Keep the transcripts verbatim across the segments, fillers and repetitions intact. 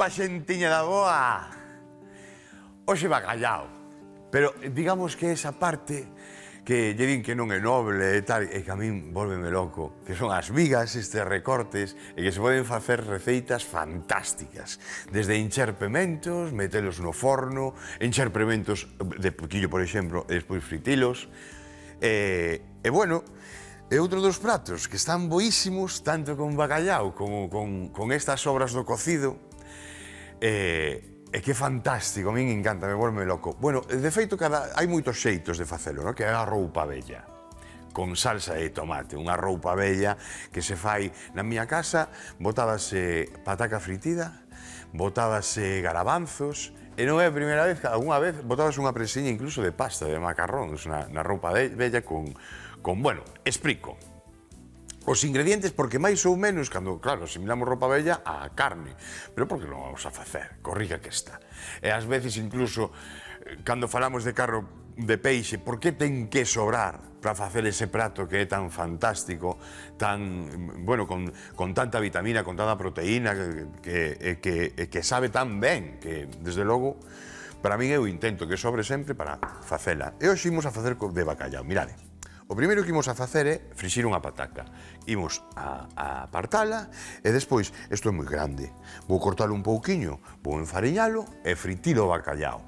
Bomba, xentiña da boa! Hoxe bacallao, pero digamos que esa parte que lle din que non é noble e tal, e que a min volveme loco, que son as vigas, estes recortes, e que se poden facer receitas fantásticas. Desde hinchar pementos, metelos no forno, hinchar pementos de poquillo, por exemplo, e despois fritilos. E, e bueno, é outro dos pratos que están boísimos, tanto con bacallao como con, con estas obras do cocido. E, e que fantástico, a min encanta, me volve loco. Bueno, de feito, cada, hai moitos xeitos de facelo, no? Que é a roupa bella, con salsa de tomate, unha roupa bella que se fai na miña casa, botábase pataca fritida, botábase garabanzos, e non é a primeira vez, algunha vez botábase unha presiña incluso de pasta, de macarróns, na, na roupa bella con, con, bueno, explico. Os ingredientes, porque máis ou menos, cando, claro, asimilamos roupa bella a carne, pero porque non vamos a facer, corriga que está. E ás veces, incluso, cando falamos de carro de peixe, por que ten que sobrar para facer ese prato que é tan fantástico, tan, bueno, con, con tanta vitamina, con tanta proteína, que, que, que, que sabe tan ben, que, desde logo, para min eu intento que sobre sempre para facela. E hoxe imos a facer de bacallao, mirade. O primeiro que imos a facer é frixir unha pataca. Imos a, a apartala e despois, isto é moi grande, vou cortalo un pouquiño, vou enfariñalo e fritilo o bacallao.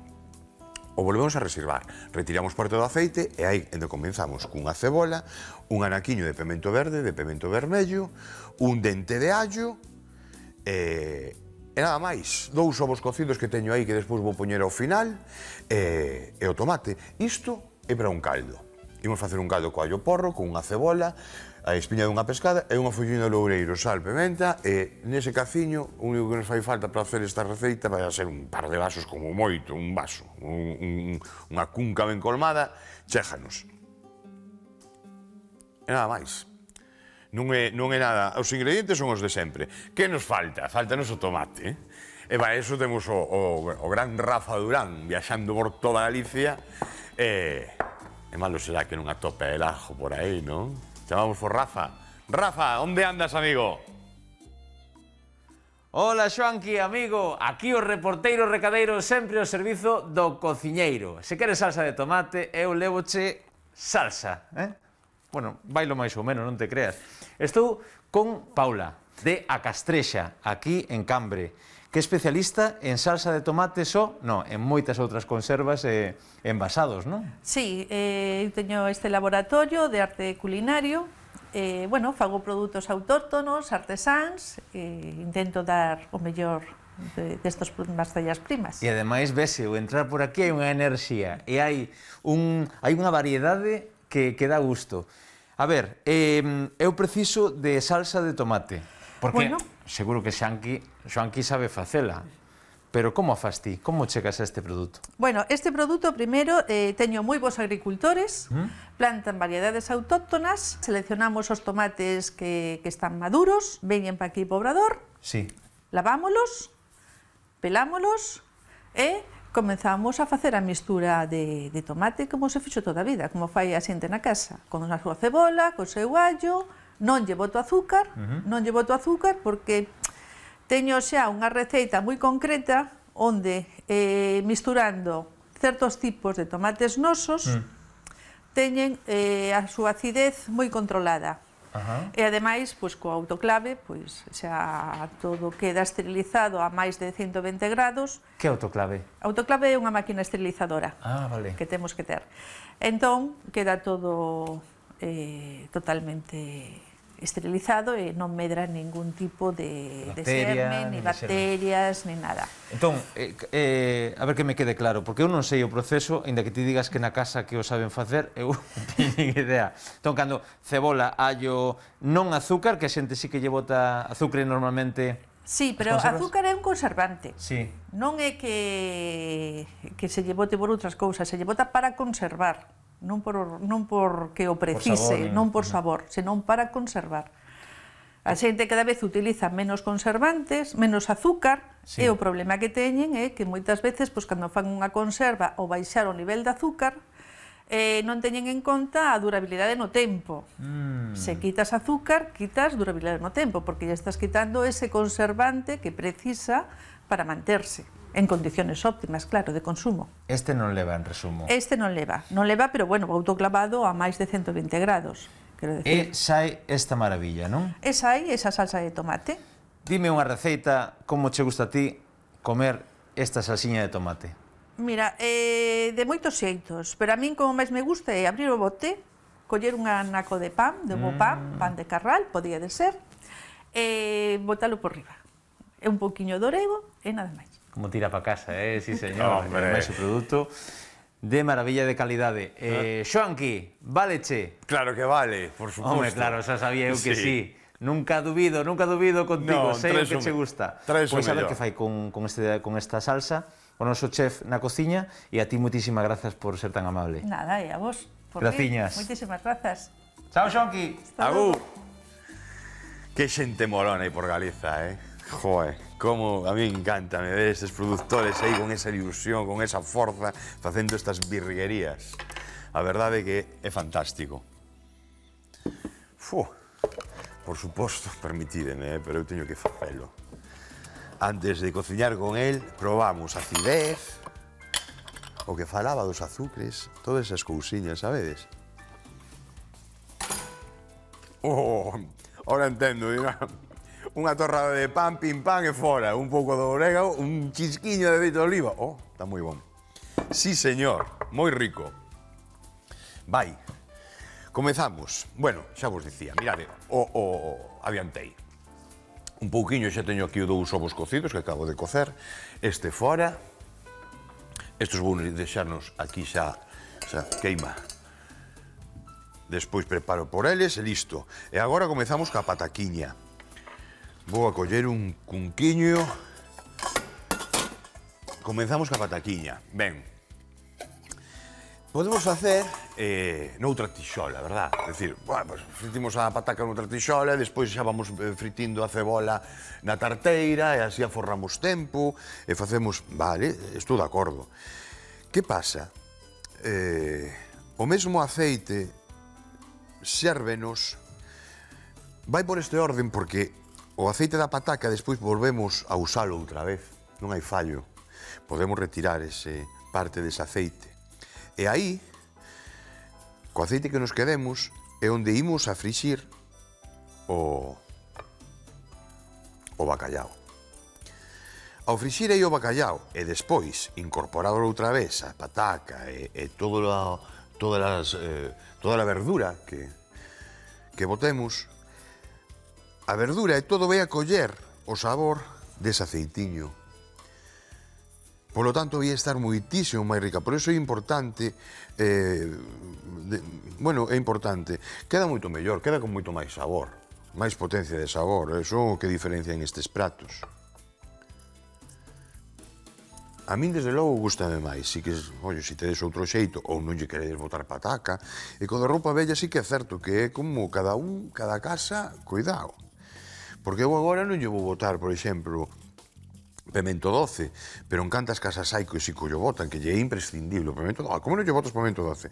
O volvemos a reservar. Retiramos parte do aceite e aí onde comenzamos cunha cebola, un anaquiño de pemento verde, de pemento vermello, un dente de allo e, e nada máis. Dous ovos cocidos que teño aí que despois vou poñer ao final e, e o tomate. Isto é para un caldo. Imos facer un caldo co allo porro, con unha cebola, a espiña dunha pescada e unha follina de loureiro, sal, pimenta e nese caciño, o único que nos fai falta para facer esta receita vai a ser un par de vasos como moito, un vaso, un, un, unha cunca ben colmada, chéjanos. E nada máis. Non é, non é nada, os ingredientes son os de sempre. Que nos falta? Faltanos o tomate, eh? E para eso temos o, o, o gran Rafa Durán viaxando por toda Galicia e... E malo será que non atope el ajo por aí, non? Chamamos por Rafa. Rafa, onde andas, amigo? Hola, Xoanqui, amigo. Aquí o reporteiro recadeiro sempre ao servizo do cociñeiro. Se queres salsa de tomate, eu levoche salsa, eh? Bueno, bailo máis ou menos, non te creas. Estou con Paula, de A Castrexa, aquí en Cambre, que é especialista en salsa de tomate só, no, en moitas outras conservas e envasados, non? Sí, eh, eu teño este laboratorio de arte culinario, eh, bueno, fago produtos autóctonos, artesáns, e intento dar o mellor destas de materias primas. E ademais, vese, o entrar por aquí hai unha enerxía e hai, un, hai unha variedade que, que dá gusto. A ver, eh, eu preciso de salsa de tomate, porque... Bueno, seguro que Xoanqui, Xoanqui sabe facela, pero como a fas ti? Como chegas a este produto? Bueno, este produto, primeiro, eh, teño moi bons agricultores, ¿Mm? Plantan variedades autóctonas, seleccionamos os tomates que, que están maduros, veñen para aquí para o obrador, sí. Lavámolos, pelámolos e comenzamos a facer a mistura de, de tomate como se fixo toda a vida, como fai a xente na casa, con a súa cebola, co seu allo. Non lle boto azúcar, uh-huh. non lle boto azúcar porque teño xa unha receita moi concreta onde eh, misturando certos tipos de tomates nosos uh-huh. teñen eh, a súa acidez moi controlada. Uh-huh. E ademais, pois, co autoclave, pois, xa todo queda esterilizado a máis de ciento vinte grados. Que autoclave? Autoclave é unha máquina esterilizadora ah, vale. que temos que ter. Entón, queda todo eh, totalmente esterilizado e non medra ningún tipo de, Bacteria, de xerme, ni bacterias, ni nada. Entón, eh, eh, a ver que me quede claro, porque eu non sei o proceso, ainda que ti digas que na casa que o saben facer, eu non teño idea. Entón, cando cebola, allo, non azúcar, que a xente sí que lle bota azúcar normalmente... Sí, pero azúcar é un conservante. Sí. Non é que, que se lle bote por outras cousas, se lle bota para conservar. Non por, non por que o precise, por sabor, non por sabor, senón para conservar. A xente cada vez utiliza menos conservantes, menos azúcar, sí. E o problema que teñen é que moitas veces, pois, cando fan unha conserva ou baixar o nivel de azúcar, eh, non teñen en conta a durabilidade no tempo. Mm. Se quitas azúcar, quitas durabilidade no tempo, porque ya estás quitando ese conservante que precisa para manterse en condiciones óptimas, claro, de consumo. Este non leva, en resumo. Este non leva, non leva, pero bueno, autoclavado a máis de ciento vinte grados, quero E decir. sai esta maravilla, non? E sai esa salsa de tomate. Dime unha receita, como che gusta a ti comer esta salsiña de tomate? Mira, eh, de moitos xeitos, pero a min como máis me gusta é abrir o bote, coller un anaco de pan, de bo pan, pan de carral, podía de ser, e botalo por riba. E un pouquiño de orego e nada máis. Como tira pa casa, eh? Sí, señor. Hombre. Máis o produto de maravilla de calidade. Eh, Xoanqui, valeche? Claro que vale, por suposto. Home, claro, xa sabía eu que sí. Sí. Nunca dubido, nunca dubido contigo, Non, sei o traes que o che me- gusta. traes o Pois a ver mellor. que fai con, con, este, con esta salsa, o noso chef na cociña, e a ti moitísimas grazas por ser tan amable. Nada, e a vos. Por Graciñas. Mí. Moitísimas grazas. Chao, Xoanqui! Agur. Que xente molona aí por Galiza, eh? Joe, como a mí encanta me ver estes produtores aí con esa ilusión, con esa forza, facendo estas virguerías. A verdade é que é fantástico. Fu, por suposto, permitídeme, eh, pero eu teño que facelo. Antes de cociñar con el, probamos acidez, o que falaba dos azúcares, todas esas cousiñas, sabedes? Oh, ahora entendo, diga. Unha torrada de pan, pim pam e fora, un pouco de orégano, un chisquiño de aceite de oliva. Oh, está moi bon. Sí, señor, moi rico. Vai, comezamos. Bueno, xa vos dicía, mirade, o, o, o adiantei. Un pouquiño xa teño aquí dous ovos cocidos que acabo de cocer. Este fora. Estos vou deixarnos aquí xa, xa queima. Despois preparo por eles e listo. E agora comezamos ca pataquiña. Vou a coller un cunquiño. Comenzamos ca pataquiña. Ben. Podemos facer eh, noutra tixola, verdad? É dicir, bueno, pues, fritimos a pataca noutra tixola e despois xa vamos eh, fritindo a cebola na tarteira e así aforramos tempo e facemos... Vale, estou de acordo. Que pasa? Eh, o mesmo aceite sérvenos vai por este orden porque o aceite da pataca despois volvemos a usalo outra vez, non hai fallo. Podemos retirar ese parte dese aceite. E aí, co aceite que nos quedemos, é onde imos a frixir o, o bacallao. Ao frixir aí o bacallao e despois incorporar outra vez a pataca e, e todo a, todas as, eh, toda a verdura que, que botemos, a verdura e todo vai a coller o sabor dese aceitiño. Polo tanto, vai estar moitísimo máis rica. Por iso é importante, eh, de, bueno, é importante, queda moito mellor, queda con moito máis sabor, máis potencia de sabor, eso é o que diferencian estes pratos. A min, desde logo, gustame máis. Si que, ollo, si tedes outro xeito ou non lle queredes botar pataca, e con a roupa bella sí que é certo que é como cada un, cada casa, cuidado. Porque eu agora non lle vou botar, por exemplo, pemento doce, pero en cantas casas hai que si que lle botan, que lle é imprescindible o pemento doce. Como non lle botas pemento doce?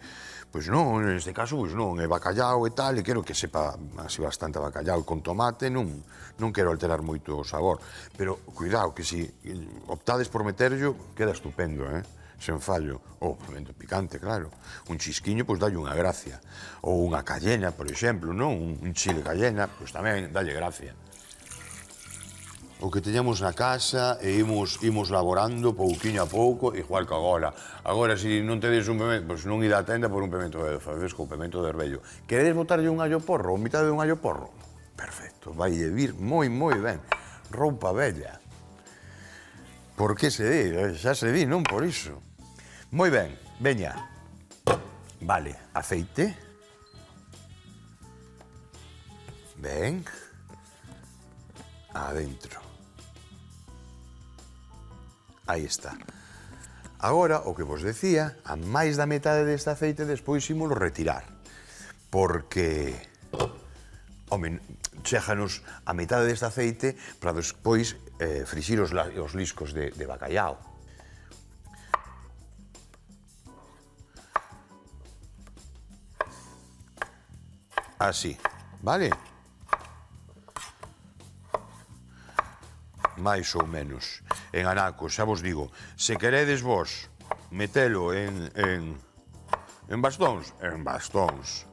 Pois non, neste caso, pois non, é bacallao e tal, e quero que sepa así bastante bacallao con tomate, non, non quero alterar moito o sabor. Pero, cuidado, que si optades por meterllo, queda estupendo, eh? Sen fallo. Ou pemento picante, claro. Un chisquiño, pois dalle unha gracia. Ou unha cayena, por exemplo, non? Un chile cayena, pois tamén dalle gracia. O que teñamos na casa e imos, imos laborando pouquiño a pouco, igual que agora. Agora, se non tedes un pemento, pois non ida a tenda por un pemento de fresco ou pemento de herbello. Queredes botarlle un allo porro ou mitad de un allo porro? Perfecto, vai de vir moi, moi ben. Roupa bella. Por que se di? Xa se di, non por iso. Moi ben, veña. Vale, aceite. Ben. Adentro. Aí está. Agora, o que vos decía, a máis da metade deste aceite despois ímolo retirar. Porque, home, chéganos a metade deste aceite para despois eh, frixir os, os liscos de, de bacallao. Así, vale? Mais ou menos. en anacos, xa vos digo, se queredes vos metelo en, en, en bastóns, en bastóns.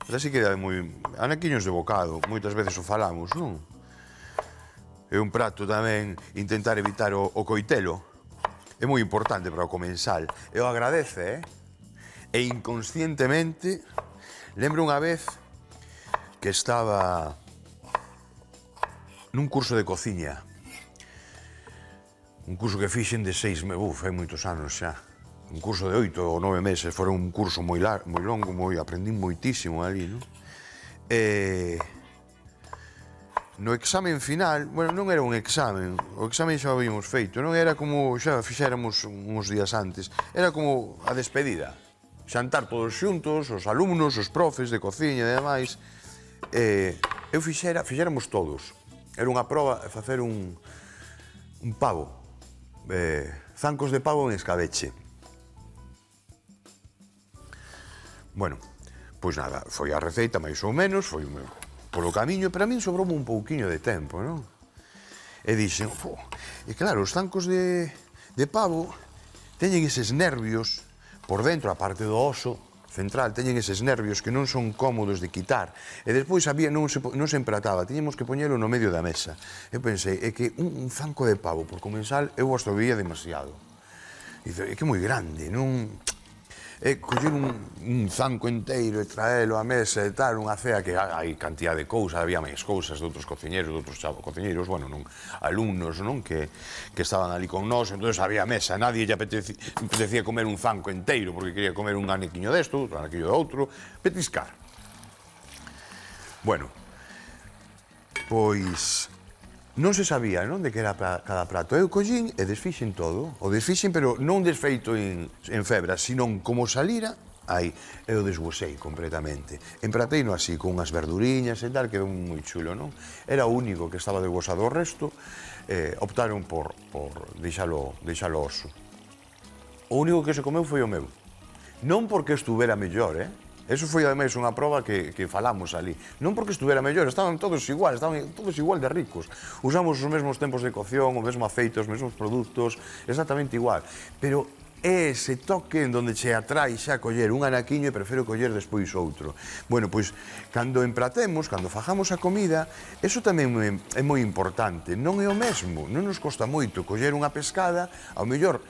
Pero así queda moi... Anaquiños de bocado, moitas veces o falamos, non? É un prato tamén intentar evitar o, o coitelo. É moi importante para o comensal. E o agradece, eh? E inconscientemente, lembro unha vez que estaba nun curso de cociña. Un curso que fixen de seis meses, uf, hai moitos anos xa. Un curso de oito ou nove meses, foi un curso moi, lar, moi longo, moi, aprendín moitísimo ali, non? E... No examen final, bueno, non era un examen, o examen xa o habíamos feito, non era como xa fixéramos uns días antes, era como a despedida. Xantar todos xuntos, os alumnos, os profes de cociña e demais. E eu fixera, fixéramos todos. Era unha proba de facer un, un pavo, eh, zancos de pavo en escabeche. Bueno, pois nada, foi a receita máis ou menos, foi polo camiño, pero a min sobroume un pouquiño de tempo, non? E dixen, oh, e claro, os zancos de, de pavo teñen eses nervios por dentro, a parte do oso central, teñen eses nervios que non son cómodos de quitar. E despois había, non se, non se emprataba, tiñemos que poñelo no medio da mesa. Eu pensei, é que un, un zanco de pavo por comensal eu hasta o veía demasiado. E é que é moi grande, non... É coller un, un zanco inteiro e traelo á mesa e tal, unha cea que hai cantidad de cousas, había máis cousas de outros cociñeros, de outros chavos cociñeros, bueno, non, alumnos, non, que, que estaban ali con nós, entón había mesa, nadie lle apetecía, apetecía comer un zanco inteiro, porque quería comer un aniquiño desto, outro aniquiño de outro, petiscar. Bueno, pois... Non se sabía, non, de que era pra cada prato. Eu collín e desfixen todo. O desfixen, pero non desfeito en, en febra, sino como salira, aí, eu desguasei completamente. Emprateino así, con unhas verduriñas e tal, quedou moi chulo, non? Era o único que estaba desguasado, o resto eh, optaron por, por deixalo, deixalo oso. O único que se comeu foi o meu. Non porque estuvera mellor, eh? Eso foi, ademais, unha proba que, que falamos ali. Non porque estuvera mellor, estaban todos igual, estaban todos igual de ricos. Usamos os mesmos tempos de cocción, o mesmo aceite, os mesmos produtos, exactamente igual. Pero é ese toque en donde che atrai xa coller un anaquiño e prefiro coller despois outro. Bueno, pois, cando empratemos, cando fajamos a comida, eso tamén é moi importante. Non é o mesmo, non nos costa moito coller unha pescada, ao mellor,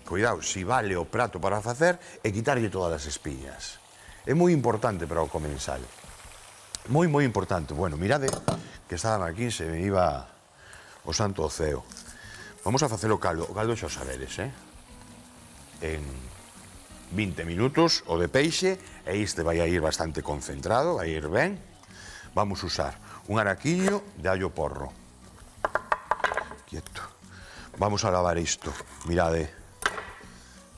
cuidado, si vale o prato para facer, e quitarlle todas as espiñas. É moi importante para o comensal. Moi, moi importante. Bueno, mirade que estaba aquí, se me iba o santo ao ceo. Vamos a facer o caldo. O caldo xa o sabedes, eh? En vinte minutos o de peixe, e este vai a ir bastante concentrado, vai a ir ben. Vamos usar un araquiño de allo porro. Quieto. Vamos a lavar isto. Mirade.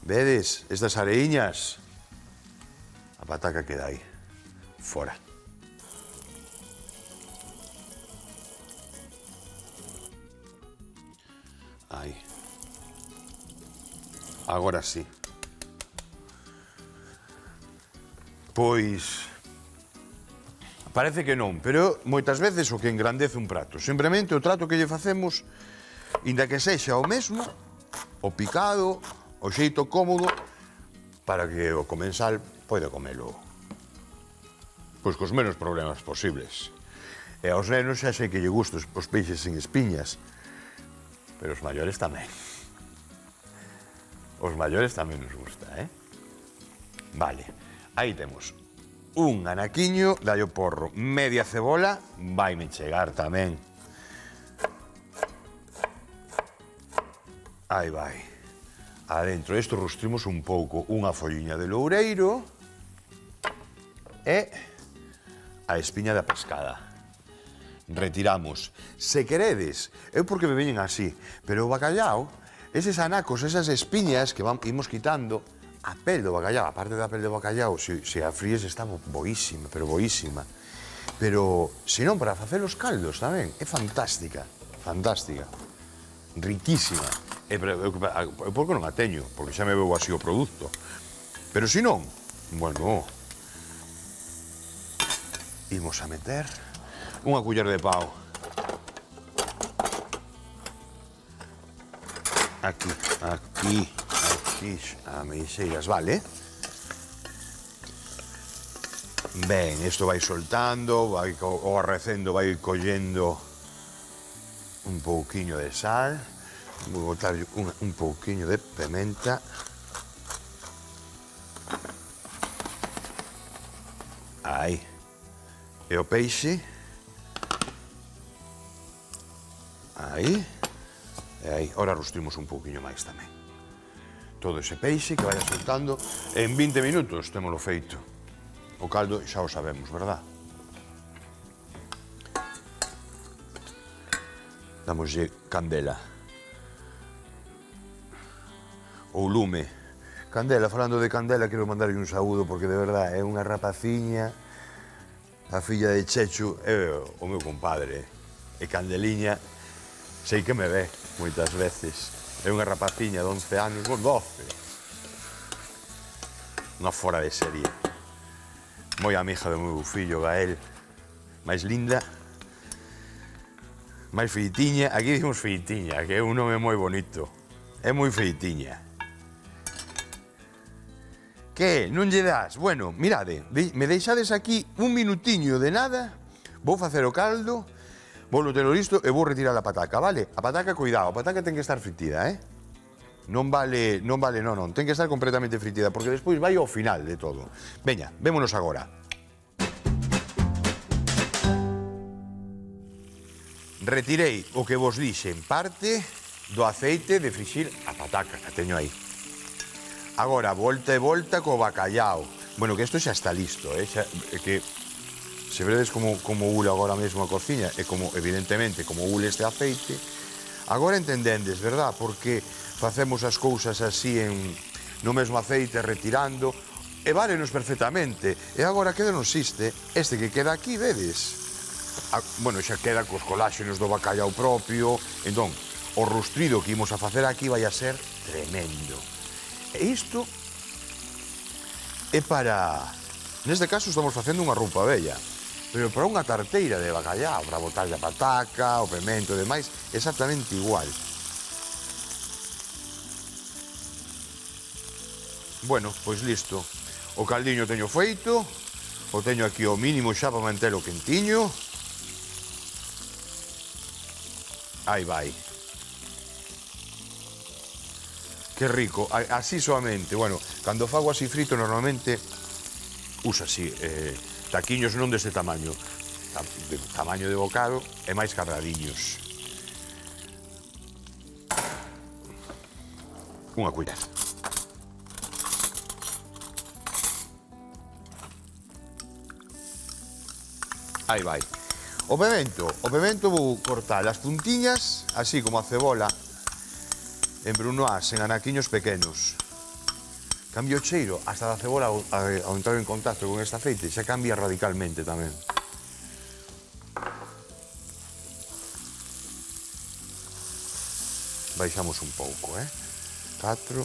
Vedes estas areiñas? A pataca queda aí, fora. Aí. Agora sí. Pois... Parece que non, pero moitas veces o que engrandece un prato. Simplemente o trato que lle facemos, inda que sexa o mesmo, o picado, o xeito cómodo, para que o comensal poida comelo pois cos menos problemas posibles. E aos nenos xa sei que lle gustos os peixes sin espiñas, pero os maiores tamén. Os maiores tamén nos gusta, eh? Vale, aí temos un anaquiño de allo porro, media cebola, vaime chegar tamén. Aí vai. Adentro isto rostrimos un pouco unha folliña de loureiro e a espiña da pescada. Retiramos. Se queredes, eu porque me veñen así, pero o bacallao, eses anacos, esas espiñas que van, imos quitando, a pel do bacallao, a parte da pel do bacallao, se, se a fríes está boísima, pero boísima. Pero, se non, para facer os caldos tamén, é fantástica, fantástica, riquísima. E, pero, eu, eu, porque non a teño, porque xa me veo así o produto. Pero se non, bueno, imos a meter unha culler de pau. aquí, aquí, aquí, a meixeiras, vale? Ben, isto vai soltando, vai o arrecendo, vai collendo un pouquiño de sal, vou botar un, un pouquiño de pimenta. Aí. E o peixe. Aí. E aí. Ora rustrimos un pouquiño máis tamén. Todo ese peixe que vaya soltando. En vinte minutos témolo feito. O caldo xa o sabemos, verdad? Damoslle candela. Ou lume. Candela, falando de Candela, quero mandarlle un saúdo porque de verdad é unha rapaciña, a filla de Chechu, é o meu compadre. E Candeliña, sei que me ve moitas veces. É unha rapaciña de once anos, con doce. Unha fora de serie. Moi amiga do meu fillo Gael, máis linda, máis feitiña. Aquí dicimos feitiña, que é un nome moi bonito. É moi feitiña. Que, non lle das? Bueno, mirade, me deixades aquí un minutiño de nada, vou facer o caldo, vou telo listo e vou retirar a pataca, vale? A pataca, cuidado, a pataca ten que estar fritida, eh? Non vale, non vale, non, non, ten que estar completamente fritida, porque despois vai ao final de todo. Veña, vémonos agora. Retirei o que vos dixe en parte do aceite de frixir a pataca que teño aí. Agora, volta e volta co bacallao. Bueno, que isto xa está listo, eh? Xa, que se vedes como, como ule agora mesmo a cociña, e como, evidentemente, como ule este aceite, agora entendendes, verdad? Porque facemos as cousas así en, no mesmo aceite, retirando, e válenos perfectamente. E agora queda non existe, este que queda aquí, vedes? A, bueno, xa queda cos coláxenos do bacallao propio, entón, o rustrido que imos a facer aquí vai a ser tremendo. E isto é para... Neste caso estamos facendo unha roupa bella, pero para unha tarteira de bacallao, para botarlle a pataca, o pemento e demais, exactamente igual. Bueno, pois listo. O caldiño teño feito, o teño aquí o mínimo xa para mantelo quentiño. Aí vai. Que rico, así soamente. Bueno, cando fago así frito normalmente usa así, eh, taquiños non deste tamaño, de tamaño de bocado e máis cadradiños. Unha culler. Aí vai. O pemento, o pemento vou cortar as puntiñas, así como a cebola, en brunoise, en anaquiños pequenos. Cambia o cheiro, hasta da cebola ao, ao entrar en contacto con este aceite, xa cambia radicalmente tamén. Baixamos un pouco, eh? catro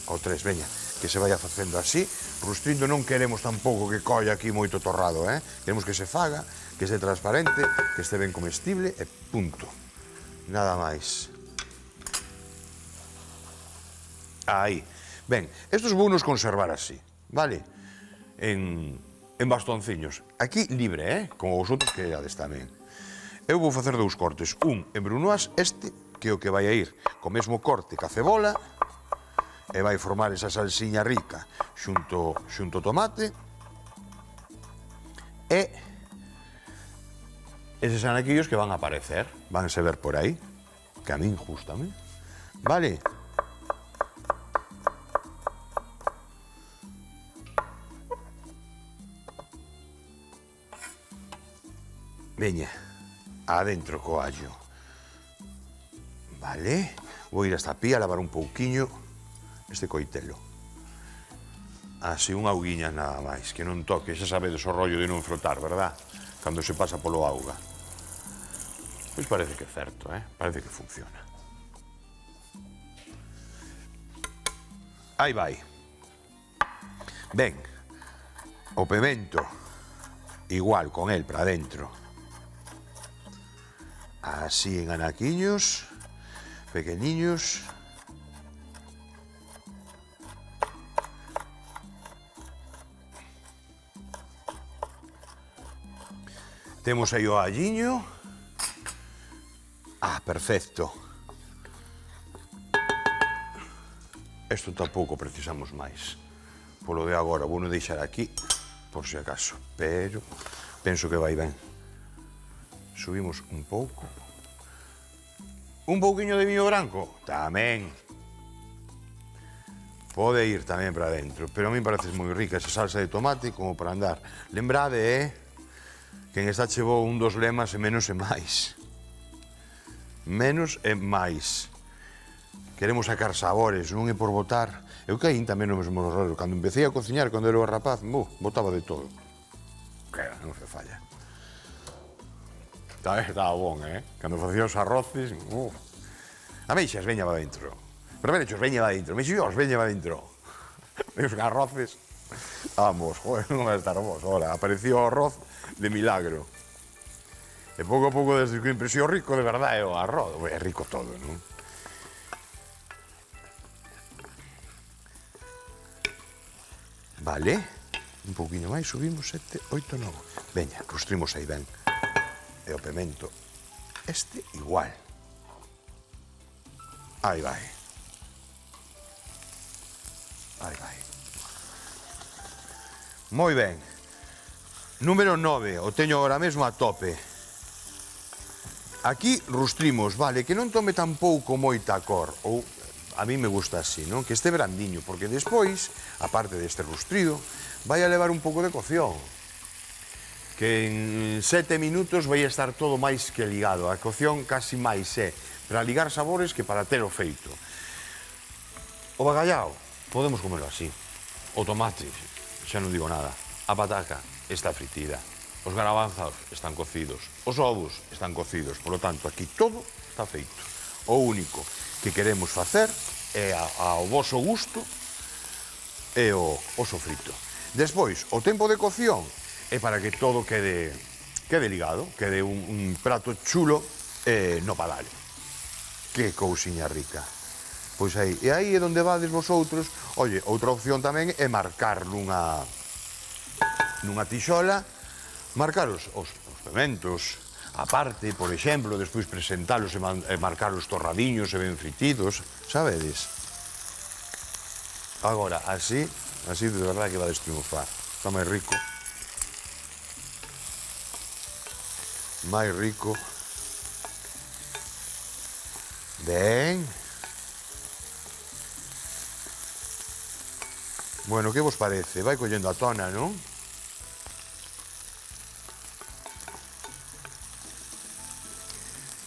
ou tres, veña, que se vaya facendo así. Rustrindo non queremos tampouco que colla aquí moito torrado, eh? Queremos que se faga, que este transparente, que este ben comestible e punto. Nada máis. Aí. Ben, estos vou nos conservar así, vale? En, en bastonciños. Aquí libre, eh? Como vosotros que erades tamén. Eu vou facer dous cortes. Un en brunoise, este, que é o que vai a ir co mesmo corte ca cebola, e vai formar esa salsiña rica xunto, xunto tomate, e eses anaquillos que van a aparecer, vanse ver por aí, que a min justame, vale? Veña, adentro co allo. Vale, vou ir hasta a pía a lavar un pouquiño este coitelo. Así, unha auguiña nada máis, que non toque, xa sabedes o rollo de non frotar, verdad? Cando se pasa polo auga. Pois parece que é certo, eh? Parece que funciona. Aí vai. Ben, o pemento, igual con el para dentro. Así en anaquiños, pequeniños. Temos aí o alliño. Ah, perfecto. Isto tampouco precisamos máis. Polo de agora, vou non deixar aquí, por si acaso. Pero penso que vai ben. Subimos un pouco. Un pouquiño de viño branco? Tamén. Pode ir tamén para dentro, pero a mí parece moi rica esa salsa de tomate como para andar. Lembrade, eh, que en esta chevou un dos lemas e menos e máis. Menos e máis. Queremos sacar sabores, non é por botar. Eu caín tamén no mesmo error. Cando empecé a cociñar, cando era rapaz, bu, botaba de todo. Que non se falla. Estaba bon, eh? Cando facía os arroces, uh. A meixas, veña va dentro. Pero venechos, veña va dentro. Mexillos, veña va dentro. Os arroces, vamos, joder, non vai estar vos. Ahora, apareció o arroz de milagro. E pouco a pouco, desde que impresión rico, de verdade, é o arroz. É rico todo, non? Vale, un pouquinho máis, subimos sete, oito, nove. Veña, rustrimos aí ben. E o pemento, este igual. Aí vai. Aí vai. Moi ben. Número nove, o teño agora mesmo a tope. Aquí rustrimos, vale, que non tome tampouco moita cor, ou a mí me gusta así, non? Que este brandiño, porque despois, aparte deste rustrido, vai a levar un pouco de cocción. Que en sete minutos vai estar todo máis que ligado. A cocción casi máis é para ligar sabores que para ter o feito. O bacallao, podemos comerlo así. O tomate, xa non digo nada. A pataca está fritida. Os garabanzos están cocidos. Os ovos están cocidos. Por lo tanto, aquí todo está feito. O único que queremos facer é ao voso gusto e o, o sofrito. Despois, o tempo de cocción é para que todo quede, quede ligado, quede un, un prato chulo eh, no padal. Que cousiña rica. Pois aí, e aí é onde vades vosotros. Oye, outra opción tamén é marcar nunha, nunha tixola, marcar os, os, os pementos, aparte, por exemplo, despois presentalos e, man, e marcar os torradiños e ben fritidos, sabedes? Agora, así, así de verdade que vades triunfar. Está máis rico. Máis rico. Ben. Bueno, que vos parece? Vai collendo a tona, non?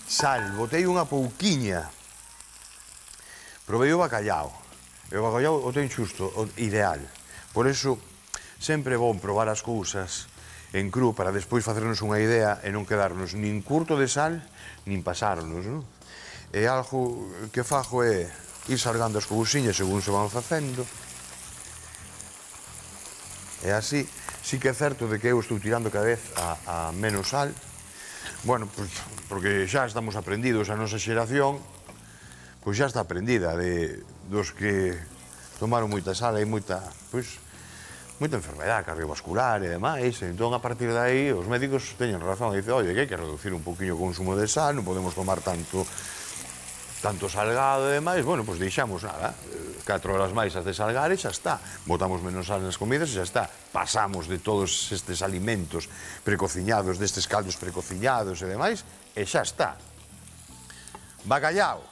Sal, botei unha pouquiña. Provei o bacallao. E o bacallao o ten xusto, o ideal. Por eso, sempre é bon probar as cousas en cru para despois facernos unha idea e non quedarnos nin curto de sal, nin pasarnos, non? E algo que fajo é ir salgando as cousiñas según se van facendo. E así, sí que é certo de que eu estou tirando cada vez a, a menos sal. Bueno, pues, porque xa estamos aprendidos, a nosa xeración, pois xa está aprendida de dos que tomaron moita sal e moita, pois, moita enfermedade cardiovascular e demais. Entón, a partir de aí, os médicos teñen razón e dicen, oye, que hai que reducir un poquinho o consumo de sal, non podemos tomar tanto tanto salgado e demais. Bueno, pois deixamos nada, catro horas máis a desalgar e xa está. Botamos menos sal nas comidas e xa está. Pasamos de todos estes alimentos precociñados, destes caldos precociñados e demais, e xa está. Bacallao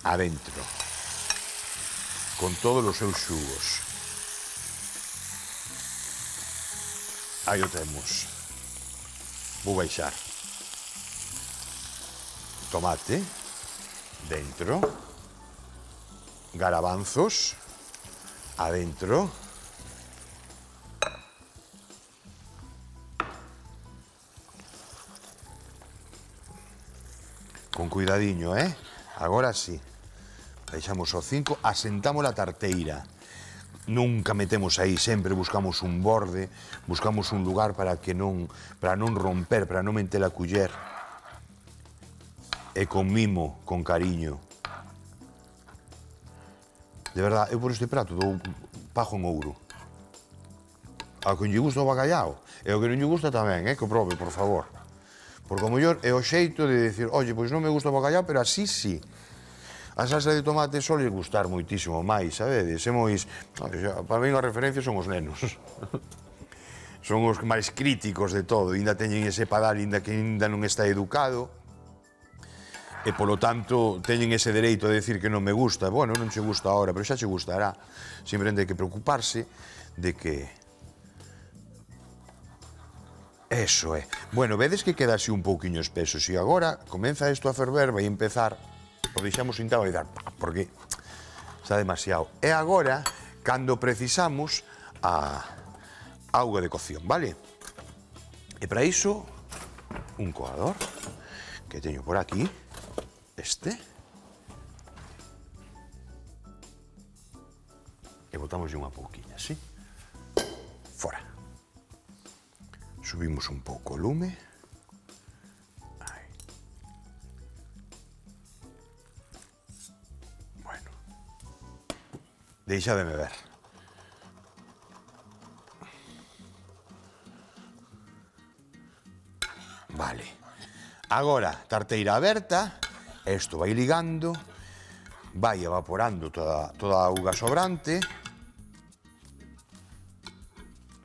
adentro, con todos os seus xugos. Aí o temos. Vou baixar. Tomate dentro, garabanzos adentro, con cuidadiño, eh? Agora sí, deixamos o cinco, asentamos a tarteira, nunca metemos aí, sempre buscamos un borde, buscamos un lugar para que non, para non romper, para non meter a culler. E con mimo, con cariño. De verdade, eu por este prato dou pajo en ouro. ao que lle gusta o bacallao, e o que non lle gusta tamén, eh, que o probe, por favor. Porque o mellor é o xeito de dicir, oye, pois non me gusta o bacallao, pero así sí. A salsa de tomate sole gustar moitísimo máis, sabedes? É moi... Para mí a referencia son os nenos. Son os máis críticos de todo, ainda teñen ese padal, ainda que ainda non está educado, e polo tanto teñen ese dereito de decir que non me gusta. Bueno, non che gusta ahora, pero xa che gustará. Simplemente hai que preocuparse de que... Eso é. Bueno, vedes que queda así un pouquiño espeso. Se agora comeza isto a ferver, vai empezar, o deixamos sentado e dar, porque está demasiado. E agora, cando precisamos a auga de cocción, vale? E para iso, un coador, que teño por aquí, este, e botamos unha pouquiña, así, fora. Subimos un pouco o lume. Aí. Bueno. Deixademe ver. Vale. Agora, tarteira aberta, isto vai ligando, vai evaporando toda, toda a auga sobrante,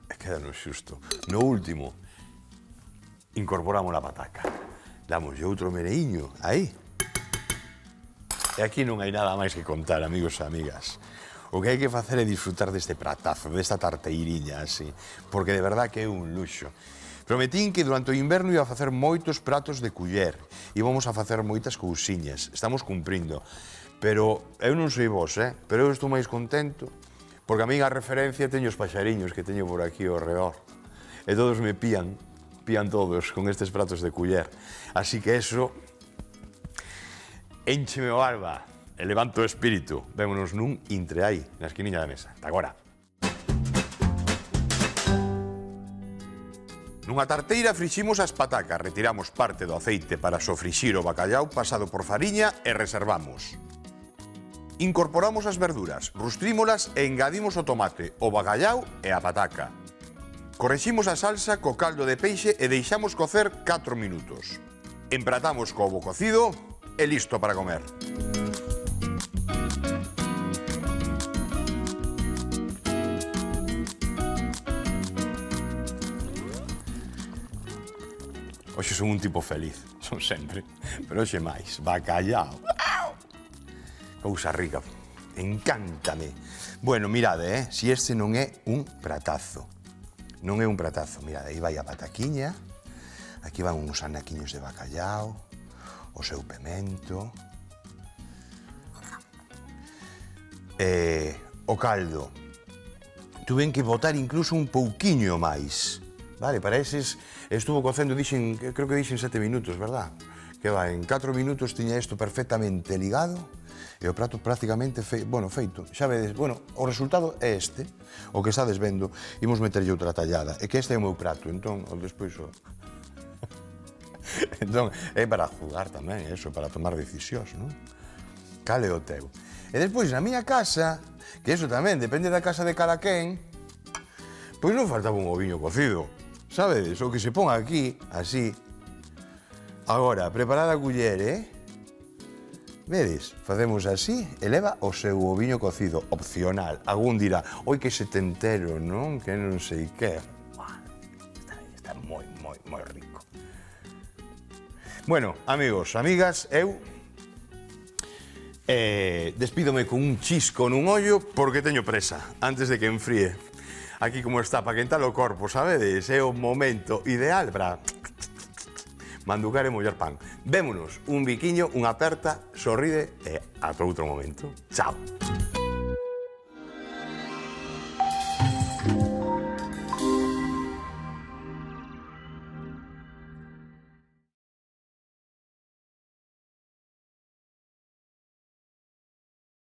e quedanos xusto. No último, incorporamos a pataca. Damos outro mereiño, aí. E aquí non hai nada máis que contar, amigos e amigas. O que hai que facer é disfrutar deste pratazo, desta tarteiriña, así, porque de verdad que é un luxo. Prometín que durante o inverno iba a facer moitos pratos de culler, íbamos a facer moitas cousiñas, estamos cumprindo. Pero eu non sei vos, eh? Pero eu estou máis contento, porque a minha referencia teño os paxariños que teño por aquí ao redor. E todos me pían, pían todos con estes pratos de culler. Así que eso, éncheme o alba, e levanto o espírito. Vémonos nun intre aí, na esquiniña da mesa. Ata agora. Nunha tarteira friximos as patacas, retiramos parte do aceite para sofrixir o bacallau pasado por fariña e reservamos. Incorporamos as verduras, rustrímolas e engadimos o tomate, o bacallau e a pataca. Correximos a salsa co caldo de peixe e deixamos cocer catro minutos. Empratamos co ovo cocido e listo para comer. Hoxe son un tipo feliz, son sempre, pero hoxe máis, bacallao. Cousa rica, encántame. Bueno, mirade, eh, si este non é un pratazo. Non é un pratazo, mirade, aí vai a pataquiña, aquí van uns anaquiños de bacallao, o seu pemento, e o caldo. Tuven que botar incluso un pouquiño máis. Vale, para eses estuvo cocendo, dixen, creo que dixen sete minutos, verdad? Que va, en catro minutos tiña isto perfectamente ligado e o prato prácticamente fe, bueno, feito. Xa vedes, bueno, o resultado é este, o que estades vendo. Imos meterlle outra tallada, e que este é o meu prato, entón, o despois o... entón, é para jugar tamén, eso, para tomar decisións, non? Cal é o teu? E despois, na miña casa, que eso tamén depende da casa de cada quen, pois non faltaba un oviño cocido. Sabedes, o que se pon aquí, así. Agora, preparada a culler, eh? Vedes, facemos así e leva o seu oviño cocido, opcional. Agún dirá, oi que setentero, non? Que non sei que. Está, está moi, moi, moi rico. Bueno, amigos, amigas, eu eh, despídome con un chisco nun ollo porque teño presa, antes de que enfríe. Aquí como está, para quentar o corpo, sabedes? É o momento ideal para manducar e mollar pan. Vémonos, un biquiño, unha aperta, sorride e ata outro momento. Chao.